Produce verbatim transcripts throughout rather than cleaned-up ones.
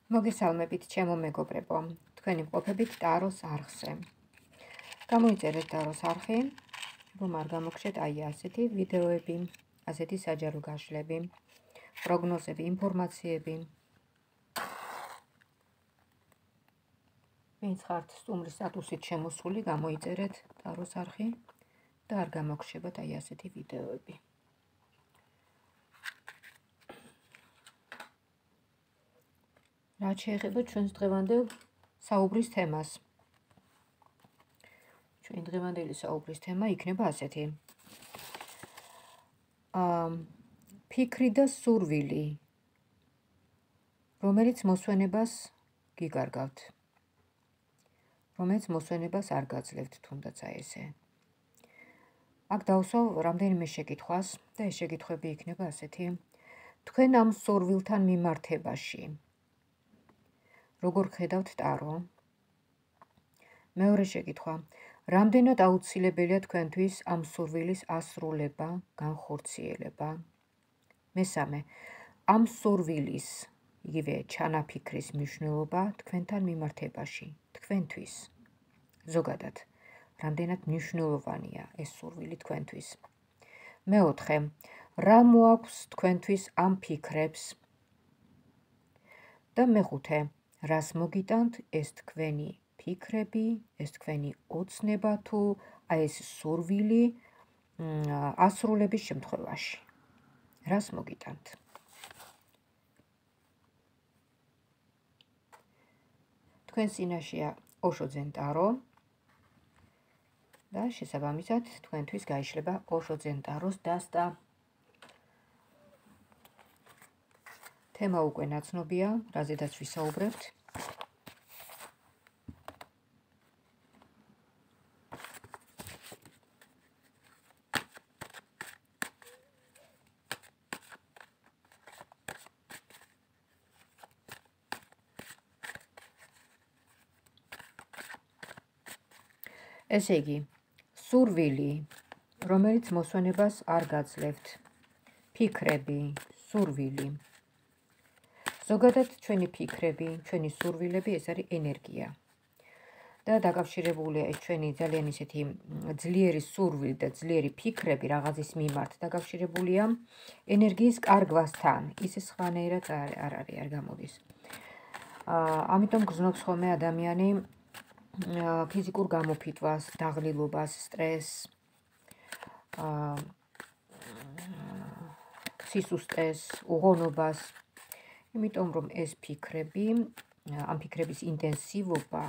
მოგესალმებით, ჩემო მეგობრებო, თქვენი მყოფებით ტაროს არხზე. გამოიწერეთ ტაროს არხი, რომ არ გამოგხსნათ აი ასეთი ვიდეოები, ასეთი საჯარო გაშლები, პროგნოზები, ინფორმაციები. ვინც ხართ სტუმრის სტატუსით შემოსული, გამოიწერეთ ტაროს არხი და არ გამოგხსნათ აი ასეთი ვიდეოები. რაც შეეხება ჩვენს დღევანდელ საუბრის თემას. Ჩვენ დღევანდელი საუბრის თემა იქნება ასეთი. ფიქრი და სურვილი, რომელიც მოსვენებას გიგარგავთ, რომელიც მოსვენებას არ გაძლევთ, თუნდაც აი ესე. აქ დავსვავ რამდენიმე შეკითხვას და ეს შეკითხვები იქნება ასეთი. თქვენ ამ სურვილთან მიმართებაში როგორ ხედავთ ტარო? მეორე შეკითხვა. რამდენად აუცილებელია თქვენთვის ამ სურვილის ასრულება, განხორციელება? მესამე. ამ სურვილის, იგივე ჩანაფიქრის მნიშვნელობა თქვენთან მიმართებაში, თქვენთვის. ზოგადად, რამდენად მნიშვნელოვანია ეს სურვილი თქვენთვის? მეოთხე. რა მოაქვს თქვენთვის ამ ფიქრებს? და მეხუთე. რას მოგიტანთ ეს თქვენი ფიქრები, ეს თქვენი ოცნება თუ აი ეს სურვილი ასრულების შემთხვევაში? რას მოგიტანთ? თქვენ წინაშეა ოშო ძენ ტარო და შესაბამისად თქვენთვის გაიშლება ოშო ძენ ტაროს დასტა. თემა უკვე ნაცნობია, რაზედაც ვისაუბრებთ. ესე იგი, სურვილი, რომელიც მოსვენებას არ გაძლევთ, ფიქრები, სურვილი. ზოგადად ჩვენი ფიქრები, ჩვენი სურვილები ეს არის ენერგია. და დაკავშირებულია ეს ჩვენი ძალიან ისეთი ძლიერი სურვილი და ძლიერი ფიქრები რაღაცის მიმართ დაკავშირებულია ენერგიის კარგვასთან. ისე სხვანაირად არ არის, არ გამოდის. ამიტომ გრძნობს ხოლმე ადამიანი ფიზიკურ გამოფიტვას, დაღლილობას, სტრესს, სისუსტეს, უღონობას. იმიტომ რომ ეს ფიქრები, ამ ფიქრების ინტენსივობა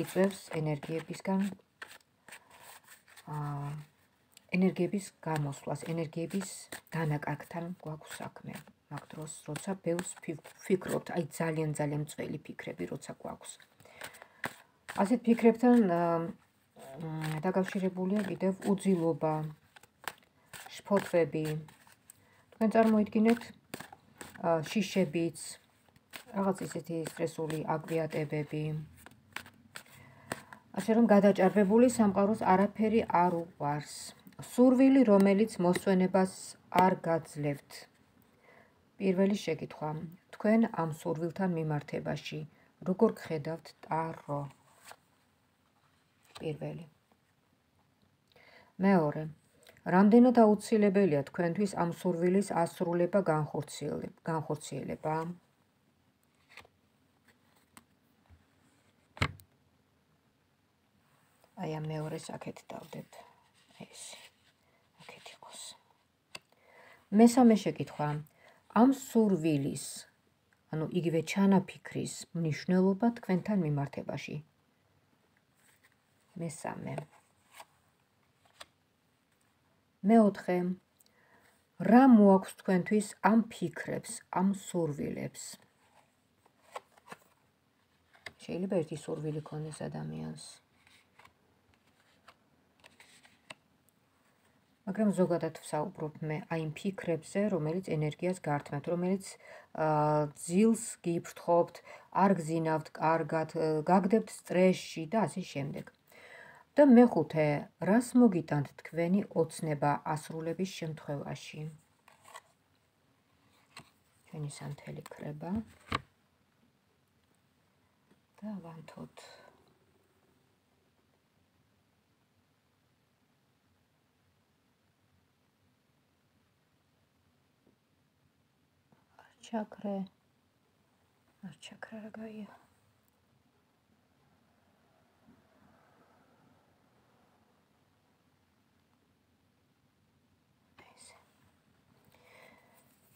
იწვევს ენერგიებისგან ენერგიების გამოსვლას, ენერგიების დანაკარგთან გვაქვს საქმე. მაგ დროს, როცა ბევრს ვფიქრობთ, აი ძალიან ძალიან მწველი ფიქრები, როცა გვაქვს. ასეთ ფიქრებთან დაკავშირებულია კიდევ უძილობა, შფოთვები. თქვენ წარმოიდგინეთ შიშებიც, რაღაც ისეთი სტრესული აგვიატებები. ასე რომ გადაჭარბებული სამყაროს არაფერი არ უყვარს. სურვილი, რომელიც მოსვენებას არ გაძლევთ. პირველი შეკითხვა. თქვენ ამ სურვილთან მიმართებაში როგორ გხედავთ ტარო? პირველი. მეორე. რამდენად აუცილებელია თქვენთვის ამ სურვილის ასრულება, განხორციელება? აი ამ მეორეს აქეთ დავდებთ. ეს აქეთ იყოს. მესამე შეკითხვა. ამ სურვილის, ანუ იგივე ჩანაფიქრის მნიშვნელობა თქვენთან მიმართებაში. მესამე. მეოთხე. რა მოაქვს თქვენთვის ამ ფიქრებს, ამ სურვილებს? შეიძლება ერთი სურვილი ქონდეს ადამიანს. მაგრამ ზოგადად ვსაუბრობ მე აი იმ ფიქრებზე, რომელიც ენერგიას გართმევთ, რომელიც ძილს გიფრთხობთ, არ გზინავთ კარგად, გაგდებთ სტრესში და ასე შემდეგ. და მეხუთე, რას მოგიტანთ თქვენი ოცნება ასრულების შემთხვევაში? ჩვენი სანთელი ქრება. და ვანთოთ. ჩაქრე. არ ჩაქრა რა გაია.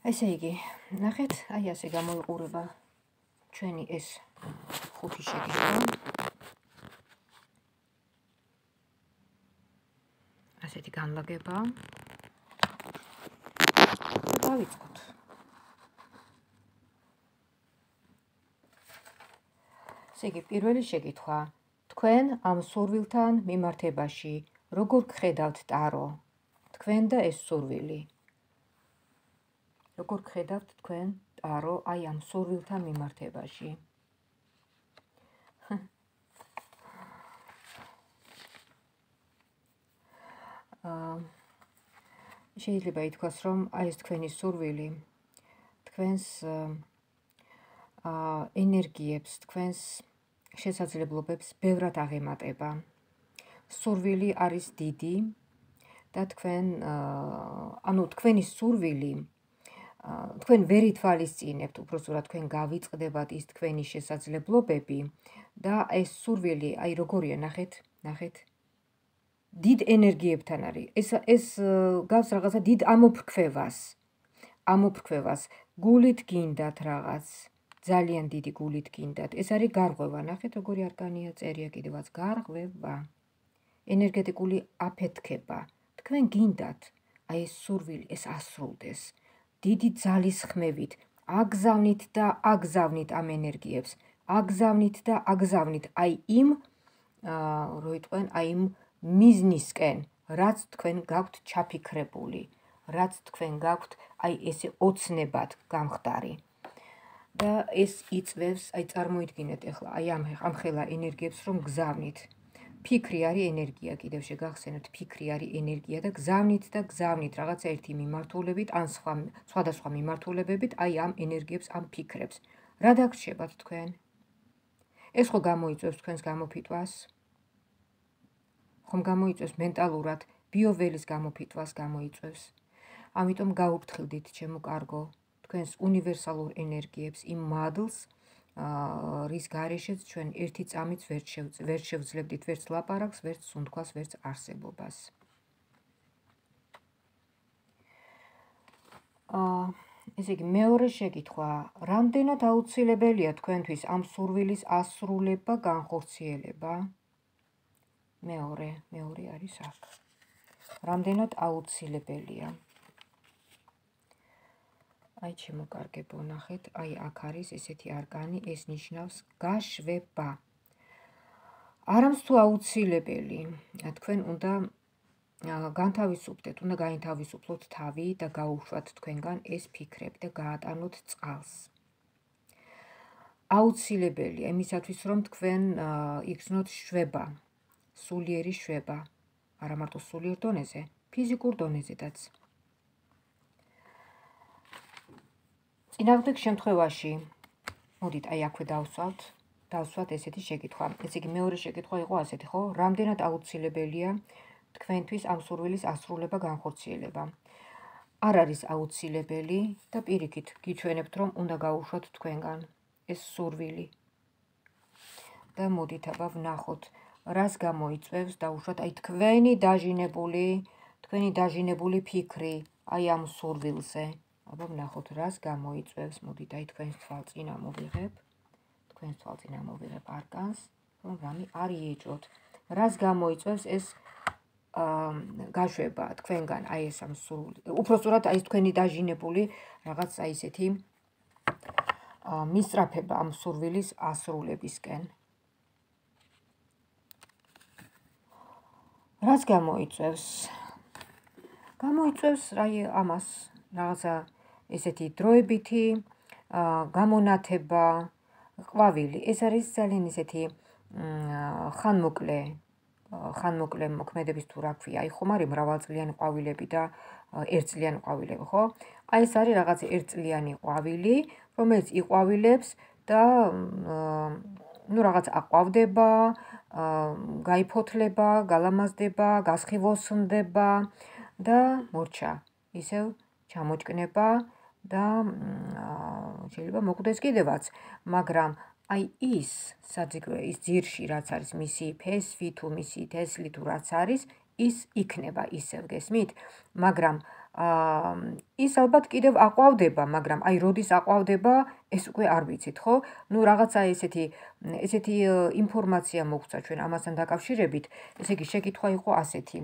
ესე იგი, ნახეთ, აი ასე გამოიყურება ჩვენი ეს ხუთი შეკითხვა. ასეთი განლაგება. დავიწყოთ. ესე იგი, პირველი შეკითხვა. თქვენ ამ სურვილთან მიმართებაში როგორ გხედავთ ტარო? თქვენ და ეს სურვილი. როგორ გხედავთ თქვენ ტარო აი ამ სურვილთან მიმართებაში? შეიძლება ითქვას, რომ აი ეს თქვენი სურვილი თქვენს ენერგიებს, თქვენს შესაძლებლობებს ბევრად აღემატება. სურვილი არის დიდი და თქვენ, ანუ თქვენი სურვილი თქვენ ვერ ითვალისწინებთ, უბრალოდ თქვენ გავიწყდებათ ის თქვენი შესაძლებლობები და ეს სურვილი, აი როგორია, ნახეთ, ნახეთ. დიდ ენერგიებთან არის. ეს ეს გავს რაღაცა დიდ ამოფრქვევას. ამოფრქვევას. გულით გინდათ რაღაც. ძალიან დიდი გულით გინდათ. ეს არის გარღვევა. ნახეთ, როგორი არკანია წერია კიდევაც გარღვევა. ენერგეტიკული აფეთქება. თქვენ გინდათ აი ეს სურვილი ეს ასრულდეს. დიდი ძალის ხმევით აგზავნით და აგზავნით ამ ენერგიებს. აგზავნით და აგზავნით აი იმ რო იტყვენ, აი იმ მიზნისკენ, რაც თქვენ გაქვთ ჩაფიქრებული, რაც თქვენ გაქვთ აი ესე ოცნებად გამხდარი. და ეს იწვევს, აი წარმოიდგინეთ ახლა, აი ამ ამხელა ენერგიებს რომ გზავნით. ფიქრი არის ენერგია, კიდევ შეგახსენებთ, ფიქრი არის ენერგია და გზავნით და გზავნით რაღაცა ერთი მიმართულებით, ან სხვა სხვადასხვა მიმართულებებით, აი ამ ენერგიებს, ამ ფიქრებს. რა დაგრჩებათ თქვენ? ეს ხო გამოიწვევს თქვენს გამოფიტვას? ხომ გამოიწვევს მენტალურად, ბიოველის გამოფიტვას გამოიწვევს. ამიტომ გაუფრთხილდით, ჩემო კარგო, თქვენს უნივერსალურ ენერგიებს, იმ მადლს, რის გარეშეც ჩვენ ერთი წამით ვერ შევძლებდით ვერც ლაპარაკს, ვერც სუნთქვას, ვერც არსებობას. ესე იგი, მეორე შეკითხვა, რამდენად აუცილებელია თქვენთვის ამ სურვილის ასრულება, განხორციელება? მეორე, მეორე არის აქ. რამდენად აუცილებელია? აი ჩემო კარგებო, ნახეთ, აი აქ არის ესეთი არკანი, ეს ნიშნავს გაშვება. არამც თუ აუცილებელი, თქვენ უნდა განთავისუფლდეთ, უნდა გაინთავისუფლოთ თავი და გაუშვათ თქვენგან ეს ფიქრები და გაატანოთ წყალს. აუცილებელია იმისათვის, რომ თქვენ იგრძნოთ შვება, სულიერი შვება, არა მარტო სულიერ დონეზე, ფიზიკურ დონეზედაც. წინააღმდეგ შემთხვევაში, მოდით, აი აქვე დავსვათ, დავსვათ ესეთი შეკითხვა. ესე იგი, მეორე შეკითხვა იყო ასეთი, ხო? რამდენად აუცილებელია თქვენთვის ამ სურვილის ასრულება, განხორციელება? არ არის აუცილებელი და პირიქით გიჩვენებთ, რომ უნდა გაუშვათ თქვენგან ეს სურვილი. და მოდით, აბა ვნახოთ, რას გამოიწვევს დაუშვათ აი თქვენი დაჟინებული, თქვენი დაჟინებული ფიქრი აი ამ სურვილზე. აბა ვნახოთ, რას გამოიწვევს, მოდით, აი თქვენს თვალწინ ამოვიღებ, თქვენს თვალწინ ამოვიღებ არკანს, რომ რამე არ იეჭოთ. რას გამოიწვევს ეს გაშვება თქვენგან აი ეს ამ სურვილი. უпростоრად აი თქვენი დაჟინებული რაღაც აი ესეთი მისწრაფება ამ სურვილის ასრულებისკენ. რას გამოიწვევს? გამოიწვევს აი ამას რაღაცა ესეთი დროებითი გამონათება, ყვავილი. ეს არის ძალიან ესეთი ხანმოკლე ხანმოკლე მოქმედების თუ რა ქვია, აი ხომ არის მრავალწლიანი ყვავილები და ერთწლიანი ყვავილები, ხო? აი ეს არის რაღაც ერთწლიანი ყვავილი, რომელიც იყვავილებს და ნუ რაღაც აყვავდება, გაიფოთლება, გალამაზდება, გასხივოსნდება და მორჩა. ისევ ჩამოჭკნება და შეიძლება მოკვდეს კიდევაც, მაგრამ აი ის საძირკველი, ის ძირში რაც არის მისი ფესვი თუ მისი თესლი თუ რაც არის, ის იქნება ისევ, გესმით? მაგრამ ის ალბათ კიდევ აყვავდება, მაგრამ აი როდის აყვავდება, ეს უკვე არ ვიცით, ხო? ნუ რაღაცა ესეთი ესეთი ინფორმაცია მოგვცა ჩვენ ამასთან დაკავშირებით, ესე იგი შეკითხვა იყო ასეთი.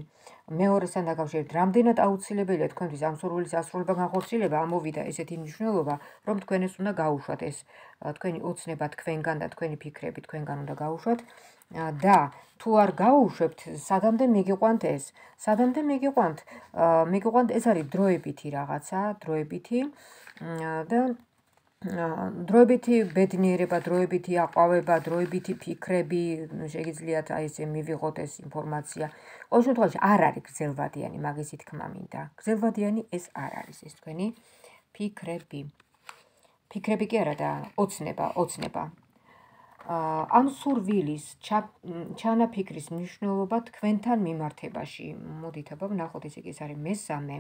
მეორესთან დაკავშირებით, რამდენად აუცილებელია თქვენთვის ამ სურვილის ასრულება განხორციელება, ამოვიდა ესეთი მნიშვნელობა, რომ თქვენ ეს უნდა გაუშვათ, ეს თქვენი ოცნება თქვენგან და თქვენი ფიქრები თქვენგან უნდა გაუშვათ და თუ არ გაუშვებთ, სადამდე მიგიყვანთ ეს? სადამდე მიგიყვანთ? მიგიყვანთ ეს არის დროებითი რაღაცა, დროებითი და დროებითი ბედნიერება, დროებითი აყვავება, დროებითი ფიქრები, შეგიძლიათ აი ესე მივიღოთ ეს ინფორმაცია. ყოველ შემთხვევაში არ არის გრძელვადიანი, მაგისი თქმა მინდა. გრძელვადიანი ეს არ არის, ეს თქვენი ფიქრები. ფიქრები კი არა და ოცნება, ოცნება. ამ სურვილის ჩანაფიქრის მნიშვნელობა თქვენთან მიმართებაში. მოდით აბა ვნახოთ, ესე იგი ეს არის მესამე.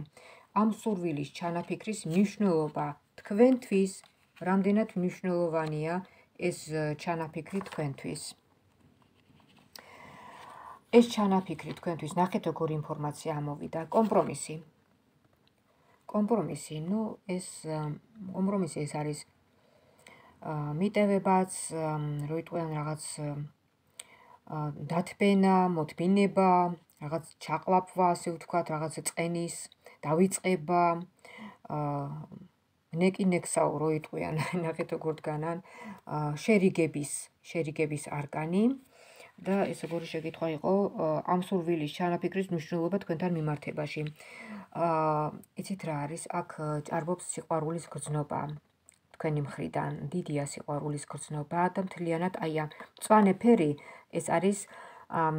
ამ სურვილის ჩანაფიქრის მნიშვნელობა თქვენთვის, რამდენად მნიშვნელოვანია ეს ჩანაფიქრი თქვენთვის. ეს ჩანაფიქრი თქვენთვის, ნახეთ როგორი ინფორმაცია ამოვიდა, კომპრომისი. კომპრომისი, ნუ ეს კომპრომისი ეს არის მიტევებაც, როიტყვიან რაღაც დათბენა, მოთმინება, რაღაც ჩაყლაპვა, ასე ვთქვათ, რაღაც წენის დავიწყება, ნეკინექსაო როიტყვიან, ნახეთ როგორ დგანან, შერიგების, შერიგების არგანი და ეს როგორი შეკითხვა იყო ამ სურვილის ჩანაფიქრის მნიშვნელობა თქვენთან მიმართებაში. იცით რა არის, აქ ჭარბობს სიყვარულის გრძნობა. თქვენი მხრიდან დიდია სიყვარულის გრძნობა და მთლიანად აი ამ მწვანე ფერი ეს არის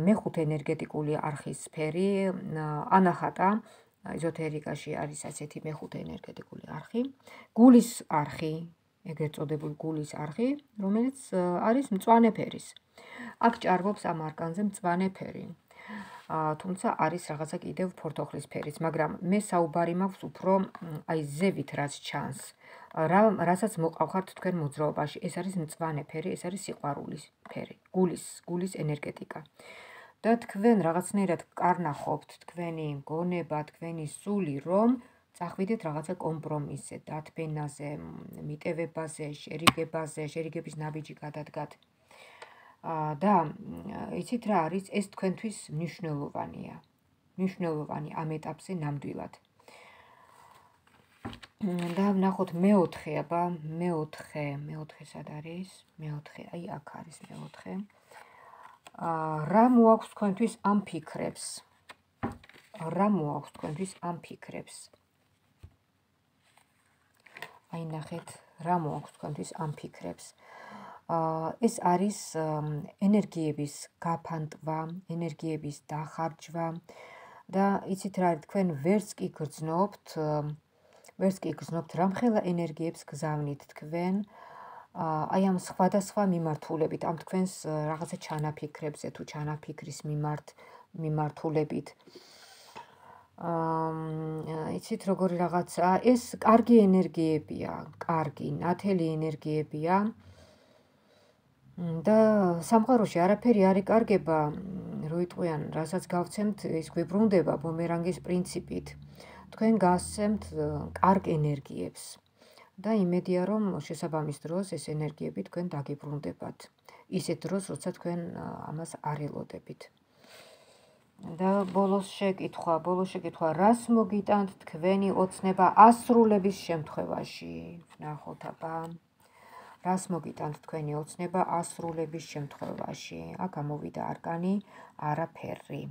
მეხუთე ენერგეტიკული არხის სფერი, ანახატა ეზოთერიკაში არის ასეთი მეხუთე ენერგეტიკული არხი, გულის არხი, ეგრეთ წოდებული გულის არხი, რომელიც არის მწვანე ფერის. აქ ჭარბობს ამ არკანზე მწვანე ფერი. თუმცა არის რაღაცა კიდევ ფორთოხლის ფერიც, მაგრამ მე საუბარი მაქვს უფრო აი ზევით რაც ჩანს. რასაც მოყავხართ თქვენ მოძრაობაში, ეს არის მწვანე ფერი, ეს არის სიყვარულის ფერი, გულის, გულის ენერგეტიკა. და თქვენ რაღაცნაირად კარნახობთ თქვენი გონება, თქვენი სული, რომ წახვიდეთ რაღაცა კომპრომისზე, დათბენაზე, მიტევებაზე, შერიგებაზე, შერიგების ნაბიჯი გადადგათ. და იცით რა არის, ეს თქვენთვის მნიშვნელოვანია. მნიშვნელოვანი ამ ეტაპზე ნამდვილად. და ვნახოთ მეოთხე, აბა, მეოთხე, მეოთხე სად არის? მეოთხე, აი აქ არის მეოთხე. რა მოაქვს თქვენთვის ამ ფიქრებს? რა მოაქვს თქვენთვის ამ ფიქრებს? აი ნახეთ, რა მოაქვს თქვენთვის ამ ფიქრებს? ეს არის ენერგიების გაფანტვა, ენერგიების დახარჯვა და იცით რა არის, თქვენ ვერც კი გრძნობთ, ვერც კი გრძნობთ, რამხელა ენერგიებს გზავნით თქვენ აი ამ სხვადასხვა მიმართულებით, ამ თქვენს რაღაცა ჩანაფიქრებზე თუ ჩანაფიქრის მიმართ მიმართულებით. იცით როგორი რაღაცა, ეს კარგი ენერგიებია, კარგი, ნათელი ენერგიებია. და სამყაროში არაფერი არ იკარგება, როიტყვიან, რასაც გავცემთ, ის გვიბრუნდება ბუმერანგის პრინციპით. თქვენ გასცემთ კარგ ენერგიებს. და იმედია, რომ შესაბამის დროს ეს ენერგიები თქვენ დაგიბრუნდებათ. ისეთ დროს, როცა თქვენ ამას არ ელოდებით. და ბოლოს შეკითხვა, ბოლოს შეკითხვა, რას მოგიტანთ თქვენი ოცნება ასრულების შემთხვევაში? ნახოთ აბა. რას მოგიტანთ თქვენი ოცნება ასრულების შემთხვევაში? აქ ამოვიდა არკანი არაფერი.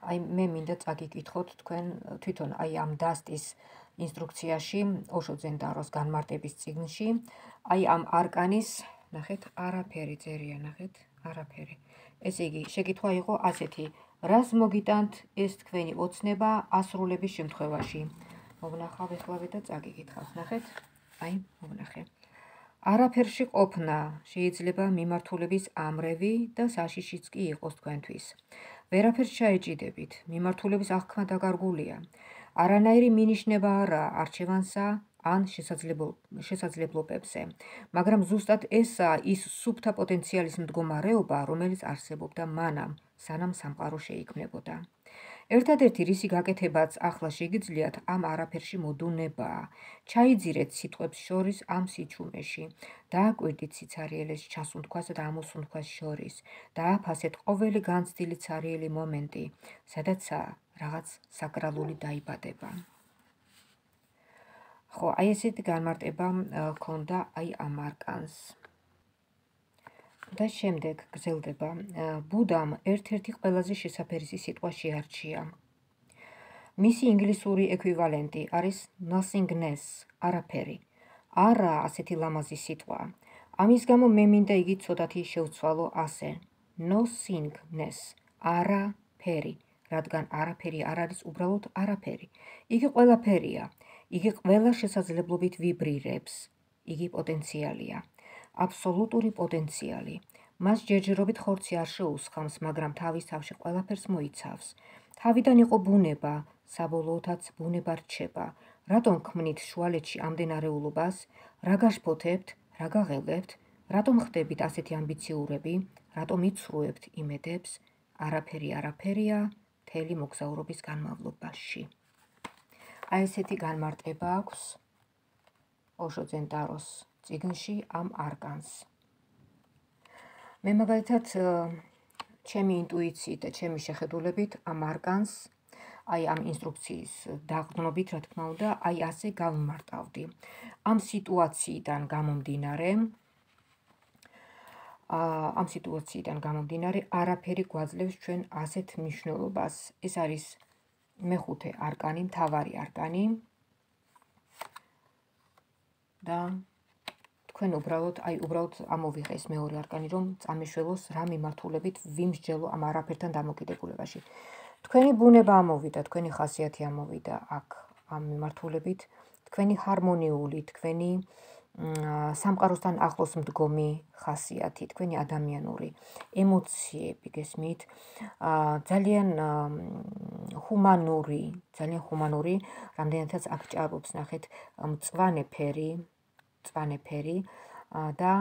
აი მე მინდა წაგიკითხოთ თქვენ თვითონ აი ამ დასტის ინსტრუქციაში, ოშო ზენდაროს განმარტების წიგნში, აი ამ არკანის, ნახეთ, არაფერი წერია, ნახეთ, არაფერი. ესე იგი, შეკითხვა იყო ასეთი, რას მოგიტანთ ეს თქვენი ოცნება ასრულების შემთხვევაში? მოვნახავ ეხლავე და წაგიკითხავთ, ნახეთ, აი, მოვნახე. არაფერში ყოფნა შეიძლება მიმართულების ამრევი და საშიშიც კი იყოს თქვენთვის. ვერაფერს ჩაეჭიდებით, მიმართულების აღქმა დაკარგულია. არანაირი მინიშნება არა არჩევანსა ან შესაძლებლობებზე, მაგრამ ზუსტად ესაა ის სუფთა პოტენციალის მდგომარეობა, რომელიც არსებობდა მანამ, სანამ სამყარო შეიქმნებოდა. ერთადერთი რისი გაკეთებაც ახლა შეგიძლიათ ამ არაფერში მოდუნებაა. ჩაიძირეთ სიტყვებს შორის ამ სიჩუმეში, დააკვირდით სიცარიელეს ჩასუნთქვას და ამოსუნთქვას შორის, დააფასეთ ყოველი განცდილი ცარიელი მომენტი, სადაცაა რაღაც საკრალური დაიბადება. ხო, აი ესეთი განმარტება ჰქონდა აი ამ არკანს. და შემდეგ გრძელდება, ბუდამ ერთ-ერთი ყველაზე შესაფერისი სიტყვა შეარჩია. მისი ინგლისური ექვივალენტი არის nothingness, არაფერი. არა ასეთი ლამაზი სიტყვა. ამის გამო მე მინდა იგი ცოტათი შევცვალო ასე. nothingness, არაფერი, რადგან არაფერი არ არის უბრალოდ არაფერი. იგი ყველაფერია. იგი ყველა შესაძლებლობით ვიბრირებს. იგი პოტენციალია. აბსოლუტური პოტენციალი. მას ჯერჯერობით ხორცი არ შეუსხამს, მაგრამ თავის თავში ყველაფერს მოიცავს. თავიდან იყო ბუნება, საბოლოოთაც ბუნება რჩება. რატომ ქმნით შუალედში ამდენარეულობას? რა გაშფოთებთ? რა გაღელვებთ? რატომ ხდებით ასეთი ამბიციურები? რატომ იცრუებთ იმედებს? არაფერი არაფერია მთელი მოგზაურობის განმავლობაში. აი ესეთი განმარტება აქვს ოშო ზენტაროს წიგნში ამ არკანს. მე მაგალითად ჩემი ინტუიციით და ჩემი შეხედულებით ამ არკანს, აი ამ ინსტრუქციის დაყრდნობით, რა თქმა უნდა, აი ასე გავმარტავდი. ამ სიტუაციიდან გამომდინარე, ამ სიტუაციიდან გამომდინარე, არაფერი გვაძლევს ჩვენ ასეთ მნიშვნელობას. ეს არის მეხუთე არკანი, მთავარი არკანი. და თქვენ უბრალოდ, აი უბრალოდ ამოვიღე ეს მეორე არკანი, რომ წამეშველოს რა მიმართულებით ვიმსჯელო ამ არაფერთან დამოკიდებულებაში. თქვენი ბუნება ამოვიდა, თქვენი ხასიათი ამოვიდა აქ ამ მიმართულებით, თქვენი ჰარმონიული, თქვენი სამყაროსთან ახლოს მდგომი ხასიათი, თქვენი ადამიანური ემოციები, გესმით, ძალიან ჰუმანური, ძალიან ჰუმანური, რამდენადაც აქ ჭარბობს, ნახეთ, მწვანე ფერი, მწვანე ფერი და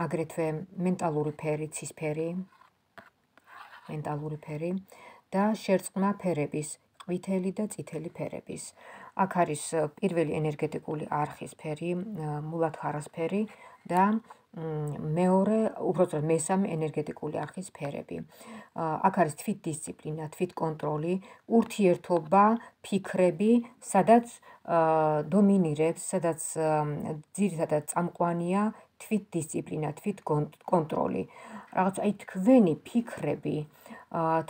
აგრეთვე მენტალური ფერი, ცისფერი, მენტალური ფერი და შერწყმა ფერების, ყვითელი და წითელი ფერების. აქ არის პირველი ენერგეტიკული არხის ფერი, მულათქარას ფერი და მეორე, უბრალოდ მესამე ენერგეტიკული არხის ფერები. აქ არის თვითდისციპლინა, თვითკონტროლი, ურთიერთობა, ფიქრები, სადაც დომინირებს, სადაც ძირითადად წამყვანია თვითდისციპლინა, თვითკონტროლი. რაღაც აი თქვენი ფიქრები,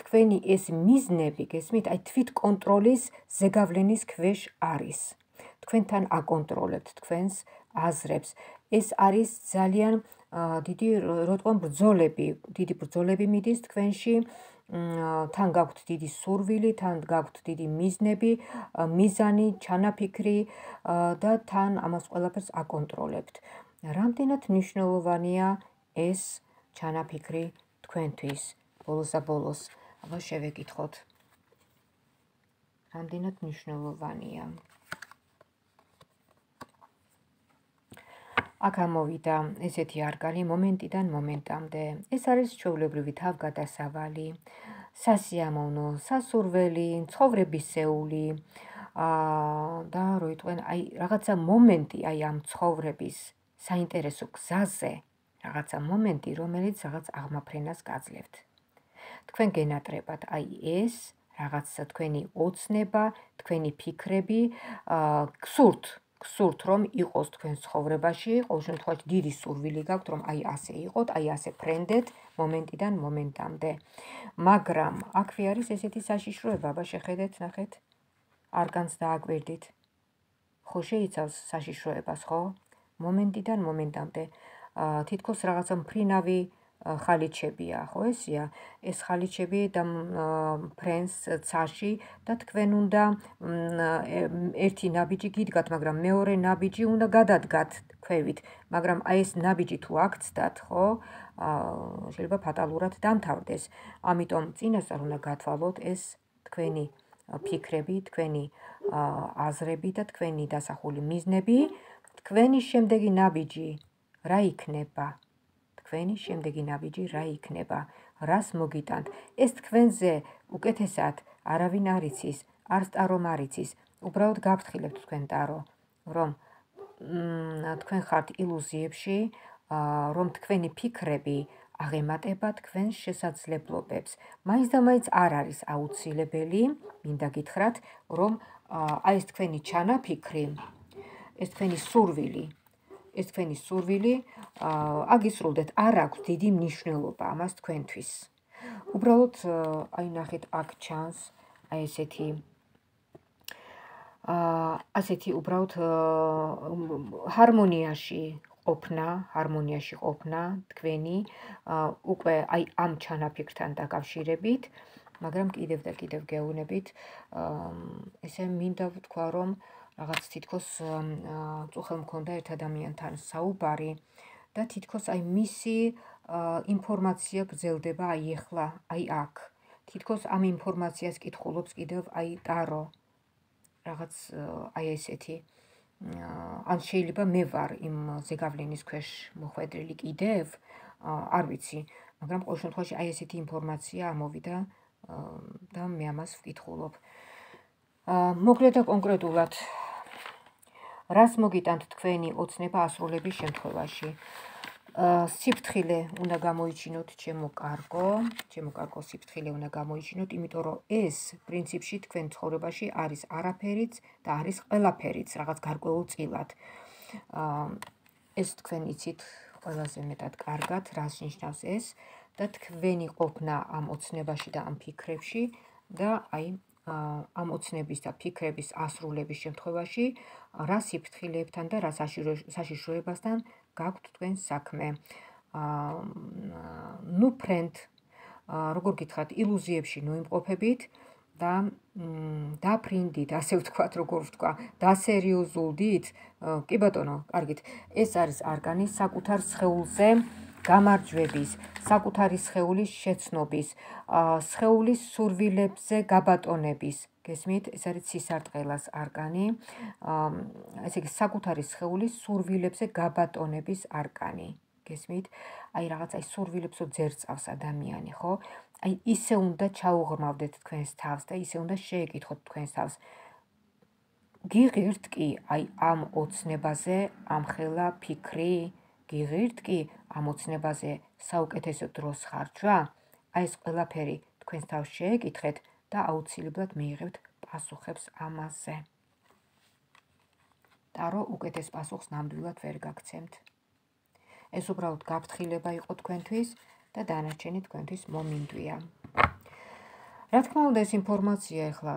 თქვენი ეს მიზნები, გესმით, აი თვითკონტროლის ზეგავლენის ქვეშ არის. თქვენთან აკონტროლებთ თქვენს აზრებს. ეს არის ძალიან დიდი, რო თქვენ, ბრძოლები, დიდი ბრძოლები მიდის თქვენში, თან გაქვთ დიდი სურვილი, თან გაქვთ დიდი მიზნები, მიზანი, ჩანაფიქრი და თან ამას ყველაფერს აკონტროლებთ. რამდენად მნიშვნელოვანია ეს ჩანაფიქრი თქვენთვის? ბოლოს და ბოლოს, აბა შევეკითხოთ. რამდენად მნიშვნელოვანია? აქ ამოვიდა ესეთი არკანი მომენტიდან მომენტამდე. ეს არის ჩვეულებრივი თავგადასავალი, სასიამოვნო, სასურველი, ცხოვრებისეული და რო იტყვენ, აი რაღაცა მომენტი, აი ამ ცხოვრების საინტერესო გზაზე, რაღაცა მომენტი, რომელიც რაღაც აღმაფრენას გაძლევთ. თქვენ გენატრებათ აი ეს რაღაც თქვენი ოცნება, თქვენი ფიქრები, გსურთ, გსურთ რომ იყოს თქვენ ცხოვრებაში, ყოველ შემთხვევაში დიდი სურვილი გაქვთ რომ აი ასე იყოთ, აი ასე ფრენდეთ მომენტიდან მომენტამდე. მაგრამ აქვე არის ესეთი საშიშროება, აბა შეხედეთ, ნახეთ, არკანს დააკვირდით. ხო შეიცავს საშიშროებას, ხო? მომენტიდან მომენტამდე. თითქოს რაღაცა მფრინავი ხალიჩებია, ხო ესია? ეს ხალიჩები და ფრენს ცაში და თქვენ უნდა ერთი ნაბიჯი გიდგათ, მაგრამ მეორე ნაბიჯი უნდა გადადგათ ქვევით, მაგრამ აი ეს ნაბიჯი თუ აქცდათ, ხო, შეიძლება ფატალურად დამთავრდეს. ამიტომ წინასწარ უნდა გათვალოთ ეს თქვენი ფიქრები, თქვენი აზრები და თქვენი დასახული მიზნები, თქვენი შემდეგი ნაბიჯი რა იქნება? თქვენი შემდეგი ნაბიჯი რა იქნება? რას მოგიტანთ? ეს თქვენზე უკეთესად არავინ არ იცის, არც ტარომ არ იცის. უბრალოდ გაფრთხილებთ თქვენ ტარო, რომ თქვენ ხართ ილუზიებში, რომ თქვენი ფიქრები აღემატება თქვენს შესაძლებლობებს. მაინც და მაინც არ არის აუცილებელი, მინდა გითხრათ, რომ აი ეს თქვენი ჩანაფიქრი, ეს თქვენი სურვილი, ეს თქვენი სურვილი აგისრულდეთ, არ აქვს დიდი მნიშვნელობა ამას თქვენთვის. უბრალოდ აი ნახეთ, აქ ჩანს აი ესეთი ასეთი უბრალოდ ჰარმონიაში ყოფნა, ჰარმონიაში ყოფნა თქვენი უკვე აი ამ ჩანაფიქრთან დაკავშირებით, მაგრამ კიდევ და კიდევ გეუბნებით, ესე მინდა ვთქვა, რომ რაღაც თითქოს წუხელ მქონდა ერთ ადამიანთან საუბარი და თითქოს აი მისი ინფორმაცია გრძელდება აი ეხლა, აი აქ. თითქოს ამ ინფორმაციას კითხულობს კიდევ აი ტარო. რაღაც აი ესეთი. ან შეიძლება მე ვარ იმ ზეგავლენის ქვეშ მოხვედრილი კიდევ, არ ვიცი, მაგრამ ყოველ შემთხვევაში აი ესეთი ინფორმაცია ამოვიდა და მე ამას ვკითხულობ. მოკლედ და კონკრეტულად, რას მოგიტანთ თქვენი ოცნება ასრულების შემთხვევაში? სიფრთხილე უნდა გამოიჩინოთ, ჩემო კარგო, ჩემო კარგო, სიფრთხილე უნდა გამოიჩინოთ, იმიტომ რომ ეს პრინციპში თქვენ ცხოვრებაში არის არაფერიც და არის ყველაფერიც, რაღაც გარკვეულწილად. ეს თქვენ იცით ყველაზე მეტად კარგად, რას ნიშნავს ეს და თქვენი ყოფნა ამ ოცნებაში და ამ ფიქრებში და აი ამ ოცნების და ფიქრების ასრულების შემთხვევაში რა სიფრთხილებთან და რა საშიშროებასთან გაქვთ თქვენ საქმე. ნუ ფრენდ, როგორ გითხრათ, ილუზიებში ნოიმყოფებით და დაფრინდით, ასე ვთქვათ, როგორ ვთქვა, დასერიოზულდით. კი ბატონო, კარგით. ეს არის არკანი საკუთარ სხეულზე გამარჯვების, საკუთარი სხეულის შეცნობის, სხეულის სურვილებზე გაბატონების. გესმით, ეს არის ცისარტყელას არკანი. ესე იგი, საკუთარი სხეულის სურვილებზე გაბატონების არკანი. გესმით? აი რაღაც აი სურვილებსო ძერწავს ადამიანი, ხო? აი ისე უნდა ჩაუღრმავდეთ თქვენს თავს და ისე უნდა შეეკითხოთ თქვენს თავს. გიღირთ კი აი ამ ოცნებაზე ამხელა ფიქრი? გიღირთ კი ამ ოცნებაზე საუკეთესო დროს ხარჯვა? აი ეს ყველაფერი თქვენს თავს შეეკითხეთ და აუცილებლად მიიღებთ პასუხებს ამაზე. ტარო უკეთეს პასუხს ნამდვილად ვერ გაგცემთ. ეს უბრალოდ გაფრთხილება იყო თქვენთვის და დანარჩენი თქვენთვის მომინდვია. რა თქმა უნდა, ეს ინფორმაცია ახლა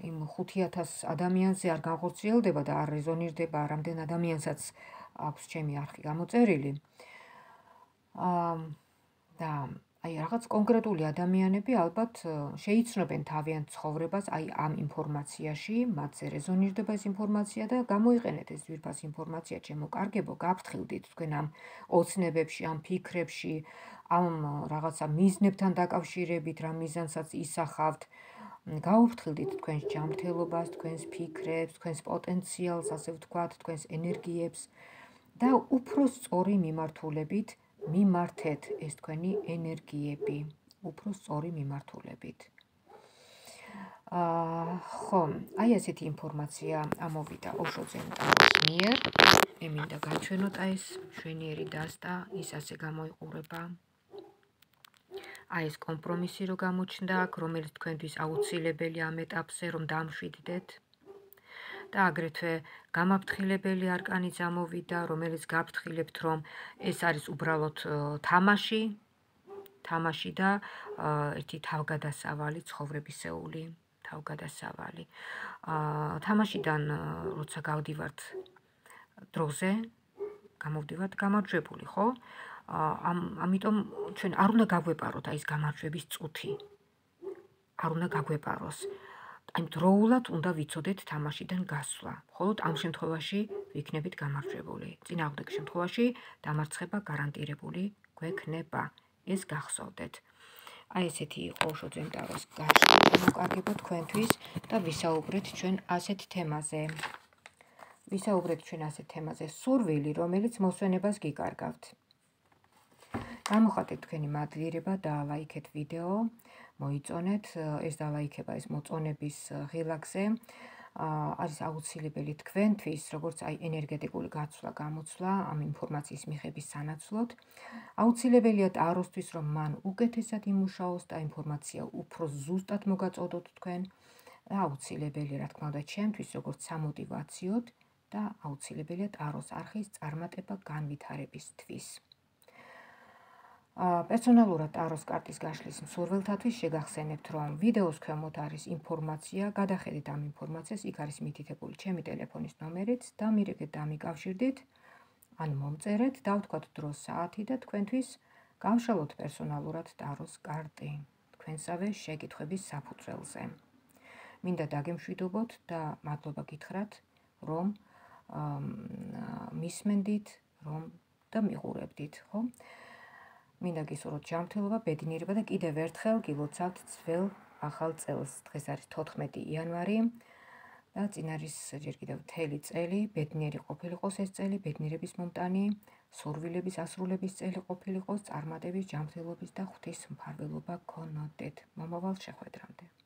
იმ ხუთი ათას ადამიანზე არ განხორციელდება და არ რეზონირდება, რამდენ ადამიანსაც აქვს ჩემი არხი გამოწერილი. და აი რაღაც კონკრეტული ადამიანები ალბათ შეიცნობენ თავიანთ ცხოვრებას აი ამ ინფორმაციაში, მათზე რეზონირდება ეს ინფორმაცია და გამოიყენეთ ეს ძვირფას ინფორმაცია, ჩემო კარგებო, გაფრთხილდით თქვენ ამ ოცნებებში, ამ ფიქრებში, ამ რაღაცა მიზნებთან დაკავშირებით, რა მიზანსაც ისახავთ. გაუფრთხილდით თქვენს ჯანმრთელობას, თქვენს ფიქრებს, თქვენს პოტენციალს, ასე ვთქვათ, თქვენს ენერგიებს და უფრო სწორი მიმართულებით მიმართეთ ეს თქვენი ენერგიები, უფრო სწორი მიმართულებით. ხო, აი ესეთი ინფორმაცია ამოვიდა ოშოძე ტაროს მიერ. მე მინდა გაჩვენოთ აი ეს მშვენიერი დასტა, ის ასე გამოიყურება. აი ეს კომპრომისი რო გამოჩნდა აქ, რომელიც თქვენთვის აუცილებელი ამ ეტაპზე, რომ დამშვიდდეთ. და აგრეთვე გამაფრთხილებელი არკანიც ამოვიდა, რომელიც გაფრთხილებთ, რომ ეს არის უბრალოდ თამაში, თამაში და ერთი თავგადასავალი, ცხოვრებისეული თავგადასავალი. თამაშიდან როცა გავდივართ დროზე, გამოვდივართ გამარჯვებული, ხო? ამიტომ ჩვენ არ უნდა გაგვეპაროთ აი ეს გამარჯვების წუთი. არ უნდა გაგვეპაროს. აი დროულად უნდა ვიცოდეთ თამაშიდან გასვლა. მხოლოდ ამ შემთხვევაში ვიქნებით გამარჯვებული. წინააღმდეგ შემთხვევაში დამარცხება გარანტირებული გვექნება. ეს გახსოვდეთ. აი ესეთი იყო უშოძენ ტაროს გამოკარგება თქვენთვის და ვისაუბრეთ ჩვენ ასეთ თემაზე. ვისაუბრეთ ჩვენ ასეთ თემაზე სურვილი, რომელიც მოსვენებას გიკარგავთ. გამოხატეთ თქვენი მადლიერება და ლაიქეთ ვიდეო, მოიწონეთ ეს დალაიქება ეს მოწონების ღილაკზე. არის აუცილებელი თქვენთვის, როგორც აი ენერგეტიკული გაცვლა, გამოცვლა ამ ინფორმაციის მიღების სანაცვლოდ. აუცილებელია ტაროსთვის, რომ მან უკეთესად იმუშაოს და ინფორმაცია უფრო ზუსტად მოგაწოდოთ თქვენ. აუცილებელი, რა თქმა უნდა, ჩემთვის, როგორც სამოტივაციოდ და აუცილებელია ტაროს არხის წარმატება განვითარებისთვის. პერსონალურად ტაროს კარტის გაშლის მსურველთათვის შეგახსენებთ, რომ ვიდეოს ქვემოთ არის ინფორმაცია, გადახედეთ ამ ინფორმაციას, იქ არის მითითებული ჩემი ტელეფონის ნომერიც, დამირეკეთ და მიკავშირდით, ან მომწერეთ, დავთქვათ დრო საათი და თქვენთვის გავშალოთ პერსონალურად ტაროს კარტი, თქვენსავე შეკითხვების საფუძველზე. მინდა დაგემშვიდობოთ და მადლობა გითხრათ, რომ მისმენდით, რომ და მიყურებდით, ხო? მინდა გისურვოთ ჯანმრთელობა, ბედნიერება და კიდევ ერთხელ გილოცავთ ძველ ახალ წელს. დღეს არის თოთხმეტი იანვარი და წინ არის ჯერ კიდევ მთელი წელი, ბედნიერი ყოფილიყოს ეს წელი, ბედნიერების მომტანი, სურვილების ასრულების წელი ყოფილიყოს, წარმატების, ჯანმრთელობის და ღვთის მფარველობა გქონოდეთ. მომავალ შეხვედრამდე.